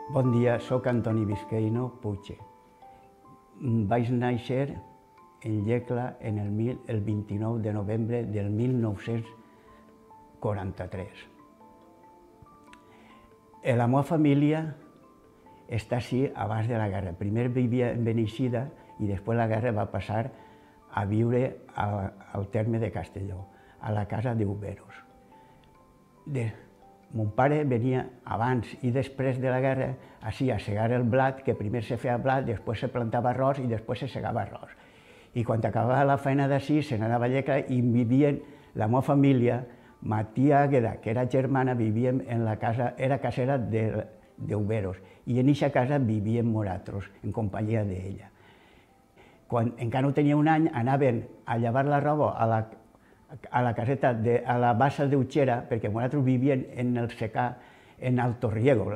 Bon dia, sóc Antoni Vizcaíno Puche. Vaig néixer en Llecla el 29 de novembre del 1943. La meva família està així abans de la guerra. Primer vivia en Beneixida i després la guerra va passar a viure al terme de Castelló, a la casa d'Uberos. Mon pare venia abans i després de la guerra així a segar el blat, que primer se feia blat, després se plantava arròs i després se segava arròs. I quan acabava la feina d'ací, se n'anava a Llecla i vivien la meva família, ma tia Àgueda, que era germana, vivíem en la casa, era casera d'Uberos, i en aquesta casa vivíem nosaltres, en companyia d'ella. Quan encara no tenia un any, anaven a llevar la roba a la caseta, a la bassa d'Utxera, perquè nosaltres vivíem en el secà, en Alto Riego,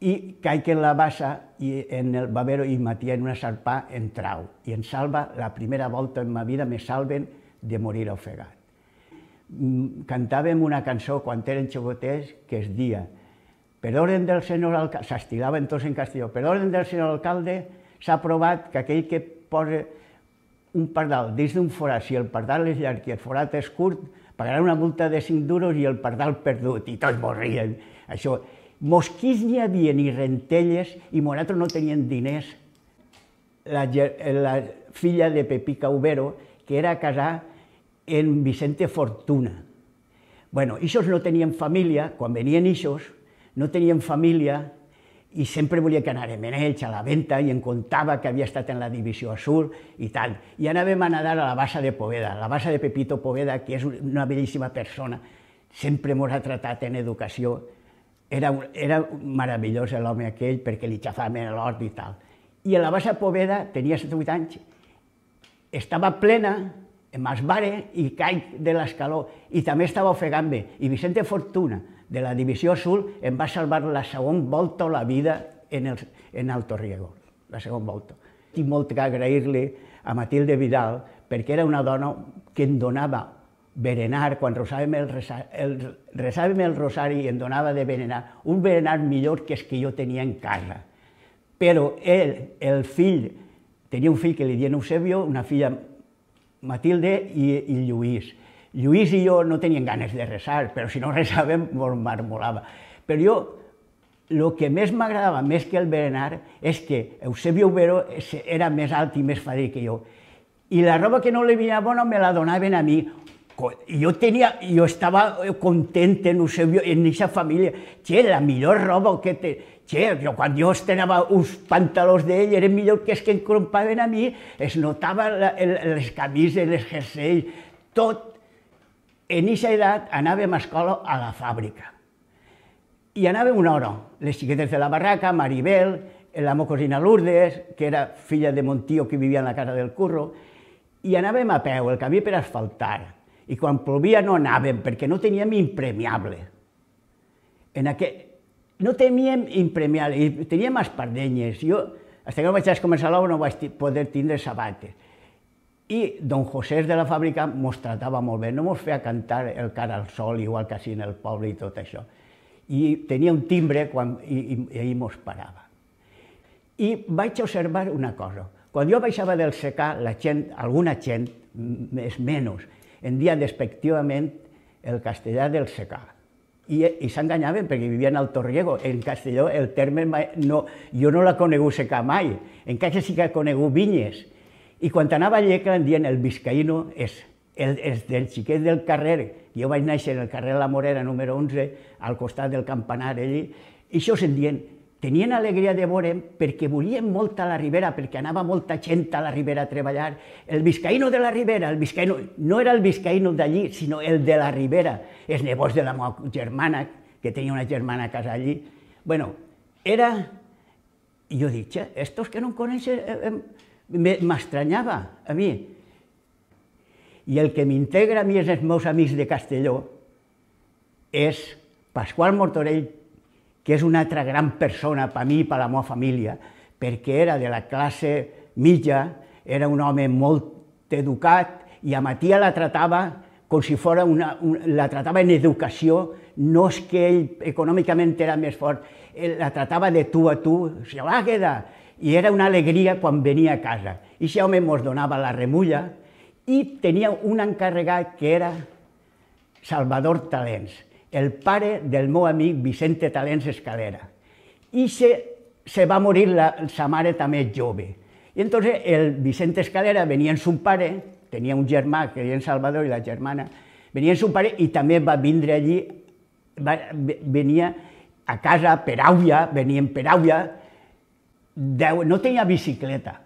i caic en la bassa, i en el babero, i matia en una sarpà en trau. I em salva, la primera volta en ma vida, me salven de morir ofegat. Cantàvem una cançó quan eren xicotets que es dia per orden del senyor alcalde, s'estilaven tots en castelló, per orden del senyor alcalde s'ha aprovat que aquell que posa un pardal dins d'un forat, si el pardal és llarg i el forat és curt, pagarà una multa de 5 duros i el pardal perdut, i tots mos rien. Això, mosquits n'hi havia ni rentelles i nosaltres no teníem diners. La filla de Pepica Ubero, que era casar en Vicente Fortuna. Bueno, ixos no tenien família, quan venien ixos, no tenien família, i sempre volia que anàrem en ells a la venta i em contava que havia estat en la Divisió Azul i tal. I anàvem a nedar a la bassa de Poveda, la bassa de Pepito Poveda, que és una bellíssima persona, sempre ens ha tratat en educació. Era meravellós l'home aquell perquè li xafàvem l'hort i tal. I a la bassa Poveda, tenia 7 o 8 anys, estava plena, m'esbare i caic de l'escaló, i també estava ofegant-me. I Vicente Fortuna, de la Divisió Azul, em va salvar la segona volta a la vida en Alto Riego, la segona volta. Tinc molt que agrair-li a Matilde Vidal, perquè era una dona que em donava berenar, quan resàvem el rosari i em donava de berenar, un berenar millor que els que jo tenia en casa. Però ell, el fill, tenia un fill que li deien Eusebio, una filla Matilde i Lluís. Lluís i jo no teníem ganes de resar, però si no resàvem, ens marmolava. Però jo, el que més m'agradava, més que el berenar, és que Eusebio Ubero era més alt i més fadrí que jo. I la roba que no li venia bona me la donaven a mi. Jo estava content en Eusebio, en aquesta família. La millor roba que té. Quan jo estrenava uns pantalons d'ell, eren millor que els que em compraven a mi, es notava les camises, les jerseis, tot. En aquesta edat anàvem a escola a la fàbrica. I anàvem una hora. Les xiquetes de la barraca, Maribel, la meva cosina Lourdes, que era filla de mon tio que vivia en la casa del curro, i anàvem a peu, el camí per asfaltar. I quan plovia no anàvem, perquè no teníem impermeable. No teníem impermeable, teníem espardenyes. Jo, fins que no vaig començar l'obra, no vaig poder tindre sabates. I don José de la fàbrica mos tratava molt bé, no mos feia cantar el cara al sol, igual que així en el poble i tot això. I tenia un timbre i ell mos parava. I vaig observar una cosa. Quan jo baixava del secà, alguna gent, més menys, en dia despectivament el castellà del secà. I s'enganyaven perquè vivien al Torriego. En Castelló el terme jo no l'he conegut secà mai, encara sí que he conegut vinyes. I quan anava a Llecla em diuen el Vizcaíno, els del xiquet del carrer, jo vaig néixer en el carrer La Morera número 11, al costat del campanar allí, i això em diuen, tenien alegria de veure'm perquè volien molt a la Ribera, perquè anava molta gent a la Ribera a treballar. El Vizcaíno de la Ribera, no era el Vizcaíno d'allí, sinó el de la Ribera, els nebots de la meva germana, que tenia una germana a casa allí. Bueno, era... I jo dic, estos que no em coneixen... M'estranyava a mi. I el que m'integra a mi és els meus amics de Castelló és Pasqual Mortorell, que és una altra gran persona per mi i per la meva família, perquè era de la classe mitja, era un home molt educat i a ma tia la tratava com si fos la tractava en educació, no és que ell econòmicament era més fort, la tractava de tu a tu, se va quedar, i era una alegria quan venia a casa. I aquest home ens donava la remulla i tenia un encarregat que era Salvador Talents, el pare del meu amic Vicente Talents Escalera. I se va morir sa mare també jove. I entonces el Vicente Escalera venia amb son pare, tenia un germà que era en Salvador i la germana, venia amb son pare i també va vindre allí, venia a casa per Àuia, venien per Àuia, no tenia bicicleta,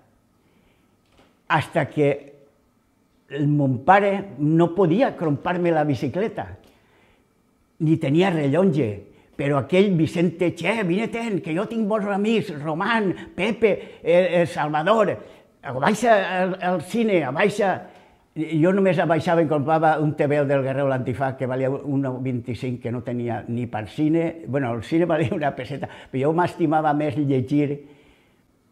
hasta que mon pare no podia comprar-me la bicicleta, ni tenia rellotge, però aquell Vicente, vine-te'n, que jo tinc bons amics, Román, Pepe, Salvador, baixa al cine, baixa... Jo només baixava i comprava un TVO del Guerrero l'Antifaz que valia 1,25, que no tenia ni per cine, bueno, el cine valia una peseta, però jo m'estimava més llegir.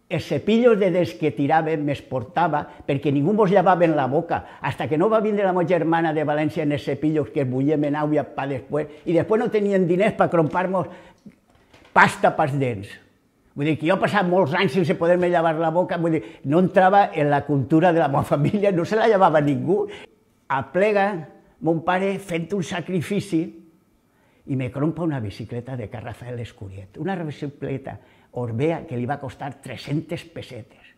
Els cepillos de dents que tirava me'ls portava perquè ningú mos llevava en la boca, hasta que no va vindre la meva germana de València en els cepillos que es bullem en Àuia per després, i després no tenien diners per comprar-nos pasta pels dents. Vull dir que jo he passat molts anys sense poder-me llevar la boca, vull dir, no entrava en la cultura de la meva família, no se la llevava ningú. Aplega mon pare fent un sacrifici i me compra una bicicleta de Can Rafael Escuriet, una bicicleta Orbea que li va costar 300 pessetes.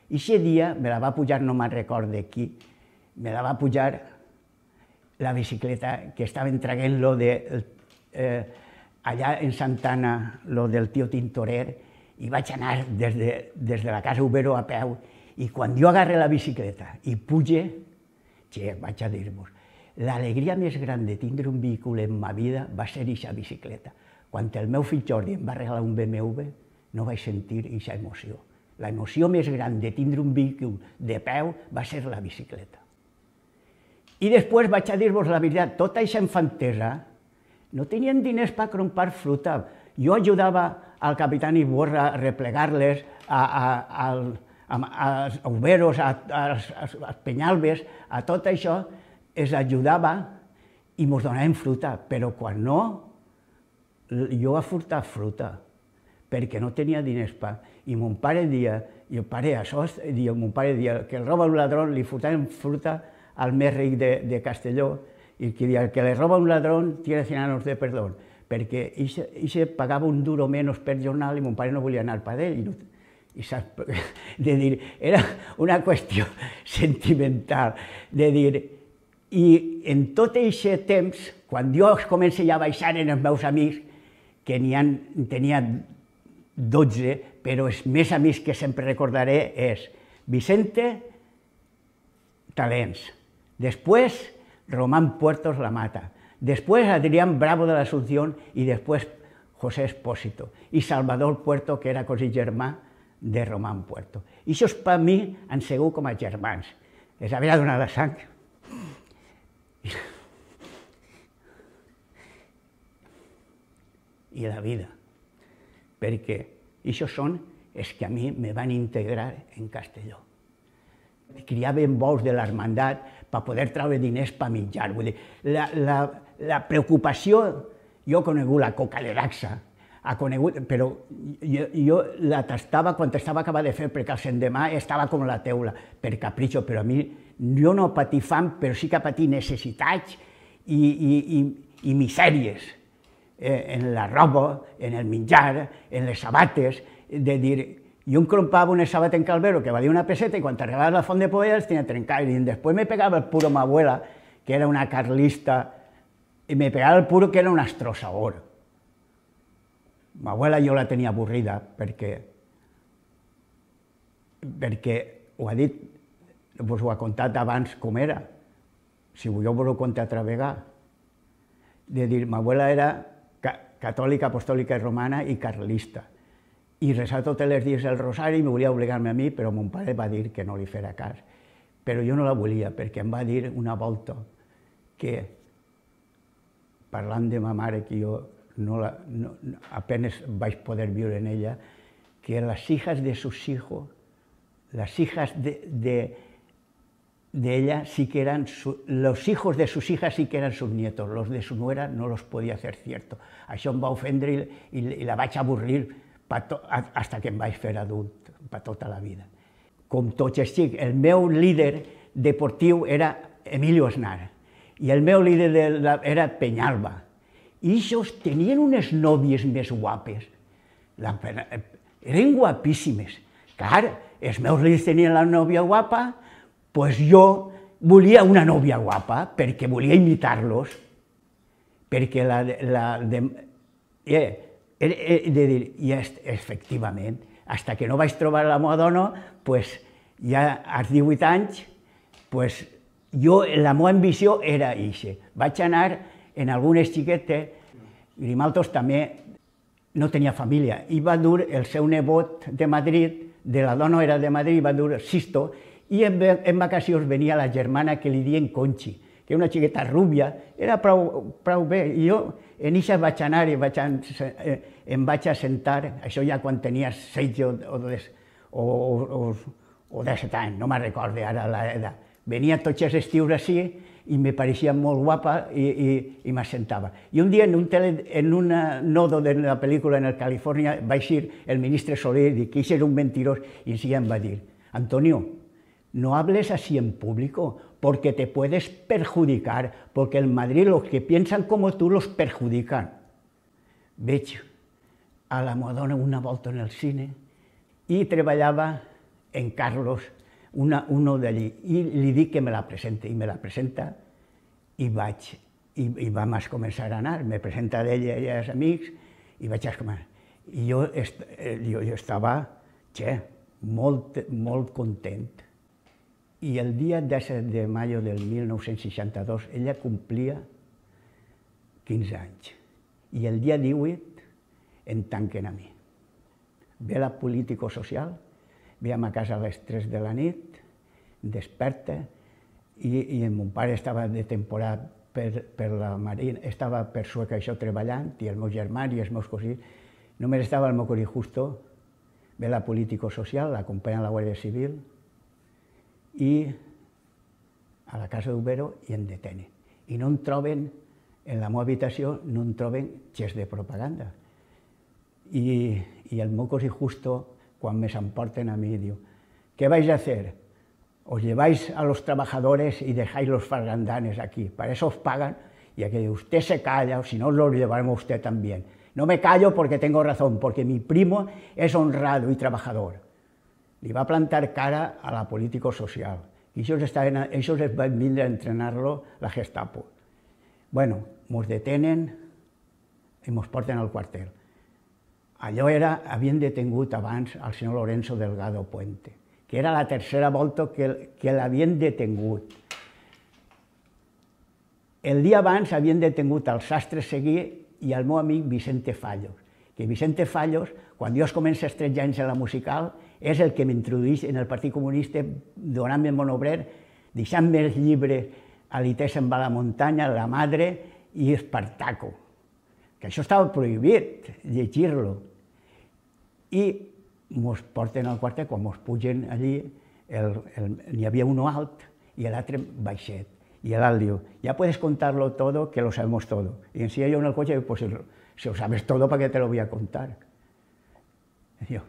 I aquest dia me la va pujar, no me'n record de qui, me la va pujar la bicicleta que estaven traient lo de allà en Santana, lo del tio Tintorer, i vaig anar des de la casa Ubero a peu, i quan jo agarre la bicicleta i puge, vaig a dir-vos, l'alegria més gran de tindre un vehicle en ma vida va ser aquesta bicicleta. Quan el meu fill Jordi em va regalar un BMW, no vaig sentir aquesta emoció. La emoció més gran de tindre un vehicle de peu va ser la bicicleta. I després vaig a dir-vos la veritat, tota aquesta infantesa no tenien diners per comprar fruita. Jo ajudava al capitán Iborra a replegar-les, als Uberos, als Penyalbes, a tot això es ajudava i mos donaven fruita, però quan no, jo he furtat fruita, perquè no tenia diners per... I mon pare dia, mon pare dia que el roba un ladrón, li furtaven fruita al més ric de Castelló, i que dia que le roba un ladrón tiene 100 años de perdón, perquè ell pagava un duro menys per jornal i mon pare no volia anar per ell. Era una qüestió sentimental, de dir, i en tot aquest temps, quan jo començo ja a baixar en els meus amics, que tenia 12, però els més amics que sempre recordaré és Vicente Talents, després Román Puertos La Mata, después Adrián Bravo de la Asunción y después José Espósito y Salvador Puerto, que era cosí germà de Román Puerto. I això per mi han sigut com a germans. Els havia donat la sang. I la vida. Perquè això són els que a mi me van integrar en Castelló. Criaven bous de l'hermandat per poder treure diners per menjar. Vull dir, la preocupació, jo he conegut la coca de Daxa, però jo la tastava quan estava acabat de fer, perquè el sendemà estava com la teula, per capritxo, però a mi jo no patir fam, però sí que patir necessitats i misèries en la roba, en el menjar, en les sabates, de dir, jo em comprava una sabata en Calvero que valia una peseta i quan arribava a la Font de Poveda els tenia trencats, i després me pegava el puro ma abuela, que era una carlista, i me pegava el puro que era un astrosaor. Ma abuela jo la tenia avorrida perquè ho ha dit, vos ho ha contat abans com era, si jo vos ho conto altra vegada, de dir, ma abuela era catòlica, apostòlica i romana i carlista, i resava tots els dies el rosari, i volia obligar-me a mi, però mon pare va dir que no li fera cas. Però jo no la volia, perquè em va dir una volta que, parlant de ma mare, que jo apenas vaig poder viure en ella, que las hijas de sus hijos, las hijas de ella sí que eran, los hijos de sus hijas sí que eran sus nietos, los de su nuera no los podía hacer cierto. Això em va ofendre i la vaig avorrir fins que em vaig fer adult, per tota la vida. Com tots els xics, el meu líder deportiu era Emilio Aznar i el meu líder era Peñalba. I ells tenien unes nòvies més guapes, eren guapíssimes. Clar, els meus líders tenien la nòvia guapa, doncs jo volia una nòvia guapa, perquè volia imitar-los, perquè i efectivament, fins que no vaig trobar la meva dona, ja als 18 anys, la meva ambició era eixa. Vaig anar en algunes xiquetes, Grimaldos també no tenia família, i va dur el seu nebot de Madrid, de la dona era de Madrid, va dur Sisto, i en vacacions venia la germana que li diuen Conchi, que era una xiqueta rúbia, era prou bé, i jo en això vaig anar i em vaig assentar, això ja quan tenia 16 o 17 anys, no me'n recordo ara l'edat. Venia tots els estius així i me pareixia molt guapa i m'assentava. I un dia en un nodo de la pel·lícula en el Califòrnia va eixir el ministre Soler i que això era un mentirós i em va dir: Antonio, no hables así en público porque te puedes perjudicar, porque en Madrid los que piensan como tú los perjudican. Veig a la meva dona una volta en el cine i treballava en Carlos, uno d'allí, i li dic que me la presente, i me la presenta, i vam començar a anar, me presenta d'ella i els amics, i vaig començar. I jo estava molt content. I el dia 17 de mayo del 1962 ella complia 15 anys, i el dia 18 em tanquen a mi. Ve la político-social, veiem a casa a les 3 de la nit, desperta, i mon pare estava de temporada per la Marina, estava per Sueca això treballant, i el meu germà i els meus cosins, només estava el meu cosí Justo, ve la político-social, l'acompanya a la Guàrdia Civil, i a la casa d'Ubero i em detenen. I no em troben, en la meva habitació, no em troben gest de propaganda. I el meu cosí Justo, quan me s'emporten a mi, diu: ¿qué vais a hacer? Os lleváis a los trabajadores y dejáis los fargandanes aquí, para eso os pagan, y aquí usted se calla, o si no, los llevaremos a usted también. No me callo porque tengo razón, porque mi primo es honrado y trabajador. Li va plantar cara a la político-social, i ells van vindre a entrenar-lo la Gestapo. Bueno, mos detenen i mos porten al quartel. Allò havien detengut abans al senyor Lorenzo Delgado Puente, que era la tercera volta que l'havien detengut. El dia abans havien detengut al Sastre Seguí i al meu amic Vicente Fallos, que Vicente Fallos, quan jo comença als 13 anys a la musical, és el que m'introdueix en el Partit Comunista, donant-me el monobrer, deixant-me els llibres Alitesa en va a la muntanya, La Madre i Espartaco, que això estava prohibit, llegir-lo. I mos porten al quartel, quan mos pugen allí, n'hi havia un alt i l'altre baixet. Y el alt diu: ya puedes contarlo todo, que lo sabemos todo. Y enseña yo en el coche, pues si lo sabes todo, ¿para qué te lo voy a contar? Yo,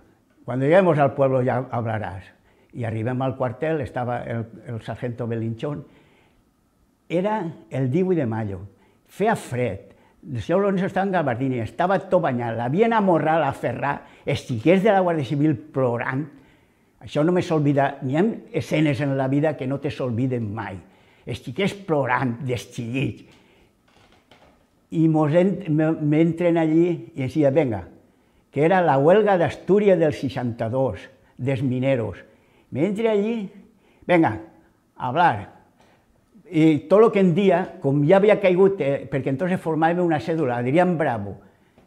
cuando lleguemos al pueblo ya hablarás. Y arribem al cuartel, estaba el sargento Belinchón. Era el 18 de mayo, feia fred, el senyor Lorenzo estava en gabardina, estava tot banyat, l'havien amorrat, aferrat, els xiquets de la Guàrdia Civil plorant. Això no me s'olvida, n'hi ha escenes en la vida que no te s'olviden mai. Els xiquets plorant, desxillits. I m'entren allí i ens diuen: venga, que era la huelga d'Astúries del 62, dels mineros. M'entren allí, venga, a hablar. I tot el que en dia, com ja havia caigut, perquè entonces formàvem una cèdula, Adrián Bravo,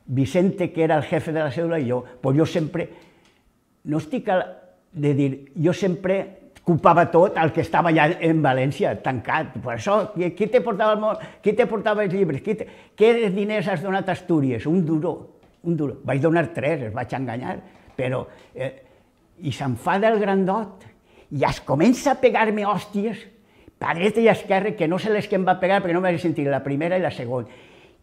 Vicente, que era el jefe de la cèdula, i jo, pues jo sempre, no estic de dir, jo sempre culpava tot el que estava allà en València, tancat. Per això, qui te portava els llibres? Què diners has donat a Astúries? Un duro, un duro. Vaig donar 3, els vaig enganyar, però... I s'enfada el grandot i es comença a pegar-me hòsties a dreta i a esquerra, que no sé les que em va pegar, perquè no m'he sentit la primera i la segona.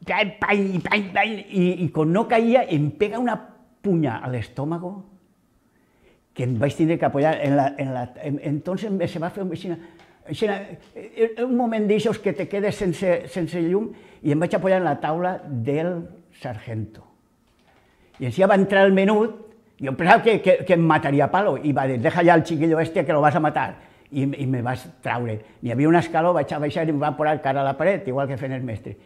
I quan no caia, em pega una punya a l'estómago, que em vaig tindre que apoyar entonces se va fer un moment d'aixòs que te quedes sense llum, i em vaig apoyar en la taula del sargento. I així va entrar el menut, jo pensava que em mataria a palo, i va dir, deja ja el chiquillo este que lo vas a matar, i me vas traure. Hi havia un escaló, vaig a baixar i em va posar cara a la paret, igual que fent el mestre.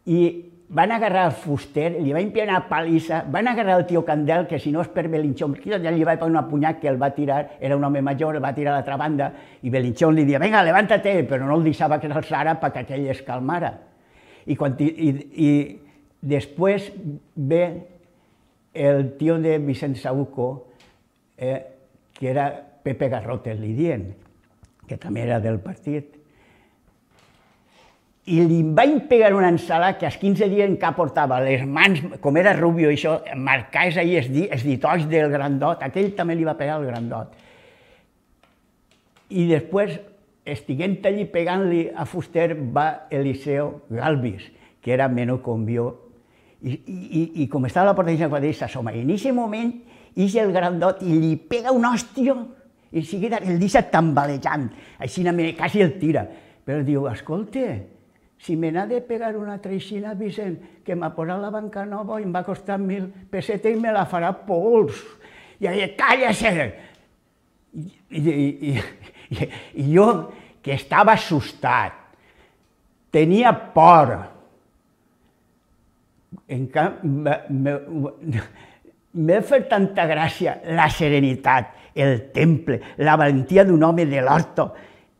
I van agarrar el fuster, li van pillar una palissa, van agarrar el tio Candel, que si no és per Belinchón, ja li va pagar una punyat que el va tirar, era un home major, el va tirar a l'altra banda, i Belinchón li dia, venga, levántate, però no el deixava que s'alçara perquè aquell es calmara. I després ve el tio de Vicent Saúco, que era Pepe Garrotes, li dient, que també era del partit, i li van pegar una ensalada que als 15 dies encara portava les mans, com era rubio i això, marcades ahí els ditots del grandot, aquell també li va pegar el grandot. I després, estiguent allí pegant-li a fuster, va Eliseo Galvis, que era menor com jo, i com estava a la porta de Sant Quadrí, s'assoma, i en aquest moment, ix el grandot i li pega un hòstia, i en seguida el deixa tambalejant, així quasi el tira, però diu, escolta, si me n'ha de pegar una treixina, Vicent, que m'ha posat la banca nova i em va costar 1.000 pessetes i me la farà pols. I ella, calla-se! I jo, que estava assustat, tenia por, m'ha fet tanta gràcia la serenitat, el temple, la valentia d'un home de l'Horto.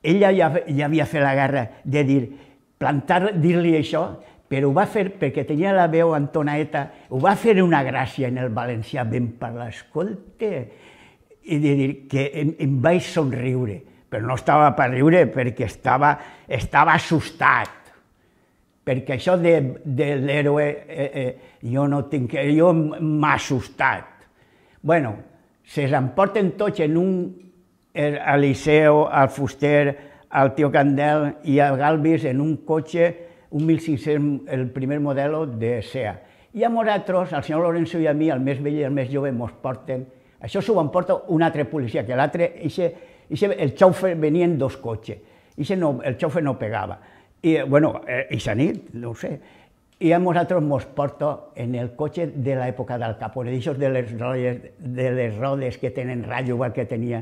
Ella ja havia fet la guerra de dir-li això, però ho va fer perquè tenia la veu entonaeta, ho va fer una gràcia en el valencià ben parlar, escolta, i de dir que em vaig somriure, però no estava per riure perquè estava assustat, perquè això de l'héroe jo m'ha assustat. Bueno, s'emporten tots en a Liceo, al fuster, al tio Candel i a Galvis en un cotxe, un 1500, el primer modelo de SEA. I a nosaltres, al senyor Lorenzo i a mi, el més vell i el més jove, ens porten, això s'ho emporta un altre policia, que l'altre, el xaufer venia en 2 cotxes, el xaufer no pegava. I, bueno, eixa nit, no ho sé. I a nosaltres ens porta en el cotxe de l'època del Capone, d'aixòs de les rodes que tenen ratllo, igual que tenia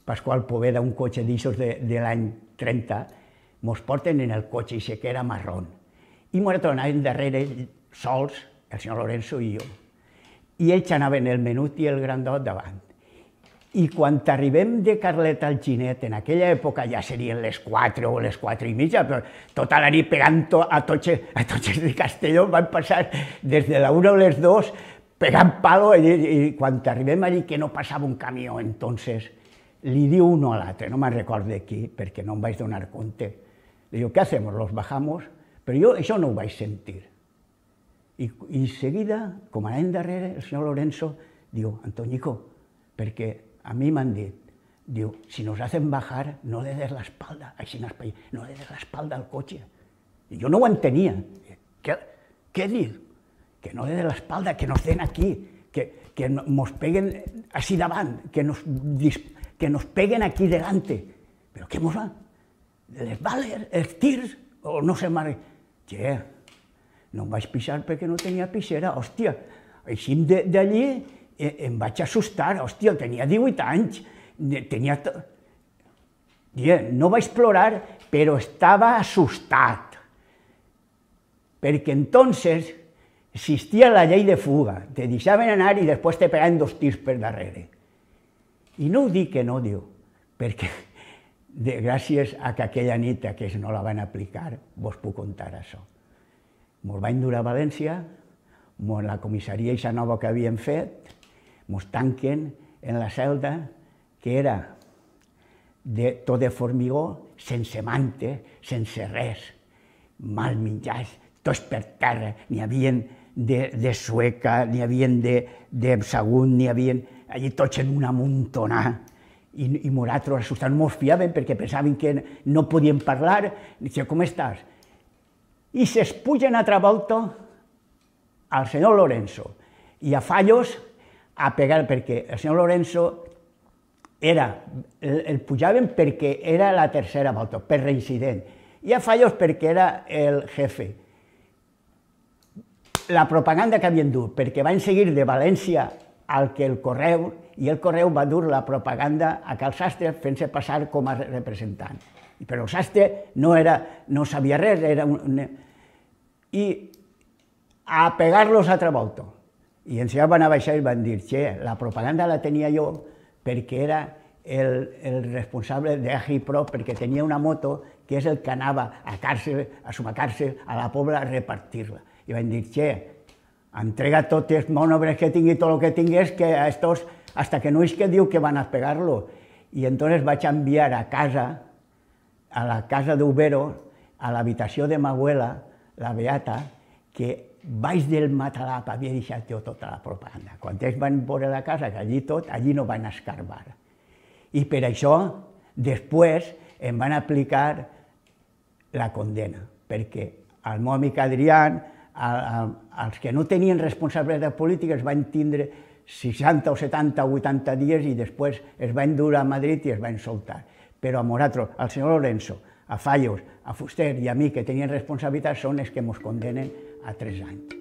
Pasqual Poveda, un cotxe d'aixòs de l'any 30, ens porten en el cotxe, i que era marrón. I nosaltres anàvem darrere, sols, el senyor Lorenzo i jo. I ells anaven el menut i el grandot davant. I quan arribem de Carlet al Ginet, en aquella època ja serien les 4 o les 4 i mitja, però tota la nit pegant a totxes de Castelló, van passar des de la 1 a les 2 pegant palo, i quan arribem allí que no passava un camió, entonces li diu uno a l'altre, no me'n recordo de qui, perquè no em vaig donar compte. Li diu, ¿qué hacemos? ¿Los bajamos? Però jo això no ho vaig sentir. I seguida, com anàvem darrere, el senyor Lorenzo diu, Antoñico, perquè a mi m'han dit, diu, si nos hacen bajar, no le des la espalda, així no le des la espalda al cotxe. I jo no ho entenia. Què diu? Que no le des la espalda, que nos den aquí, que nos peguen així davant, que nos peguen aquí delante. Però què mos va? Les bales, els tirs, o no sé més. Che, no em vaig pixar perquè no tenia pixera, hòstia. Així d'allí em vaig assustar, hòstia, tenia 18 anys, no vaig plorar, però estava assustat. Perquè entonces existia la llei de fuga, te deixaven anar i després te pegaven 2 tirs per darrere. I no ho dic que no, diu, perquè gràcies a que aquella nit aquests no la van aplicar, vos puc contar això. Mos van dur a València, la comissaria eixa nova que havíem fet, mos tanquen en la celda, que era tot de formigó, sense mante, sense res, mal menjats, tots per terra, n'hi havia de sueca, n'hi havia de sagunt, n'hi havia allí tots en una amuntonà, I nosaltres assustats no ens fiàvem perquè pensaven que no podíem parlar. Dice, com estàs? I s'espugen altra volta al senyor Lorenzo i a Fallos a pegar, perquè el senyor Lorenzo el pujaven perquè era la tercera volta, per reincident, i a Fallos perquè era el jefe. La propaganda que havien dut, perquè van seguir de València al que el Correu, i el Correu va dur la propaganda a Cal Sastre fent-se passar com a representant. Però el Sastre no sabia res, i a pegar-los altra volta. I ens van a baixar i van dir, che, la propaganda la tenia jo perquè era el responsable d'Agipro, perquè tenia una moto que és el que anava a càrcel, a suma càrcel, a la pobla a repartir-la. I van dir, che, entrega tots els monobres que tingui, tot el que tingués, que a estos, hasta que no és que diu que van a pegar-lo. I entonces vaig enviar a casa, a la casa d'Ubero, a l'habitació de ma abuela, la Beata, que baix del matalap havia deixat jo tota la propaganda. Quan ells van veure la casa, que allí no van escarbar. I per això, després, em van aplicar la condena, perquè el meu amic Adrián, els que no tenien responsabilitat política es van tindre 60 o 70 o 80 dies i després es van dur a Madrid i es van soltar. Però a nosaltres, al senyor Lorenzo, a Fallos, a Fuster i a mi, que tenien responsabilitat, són els que ens condenen a 3 anys.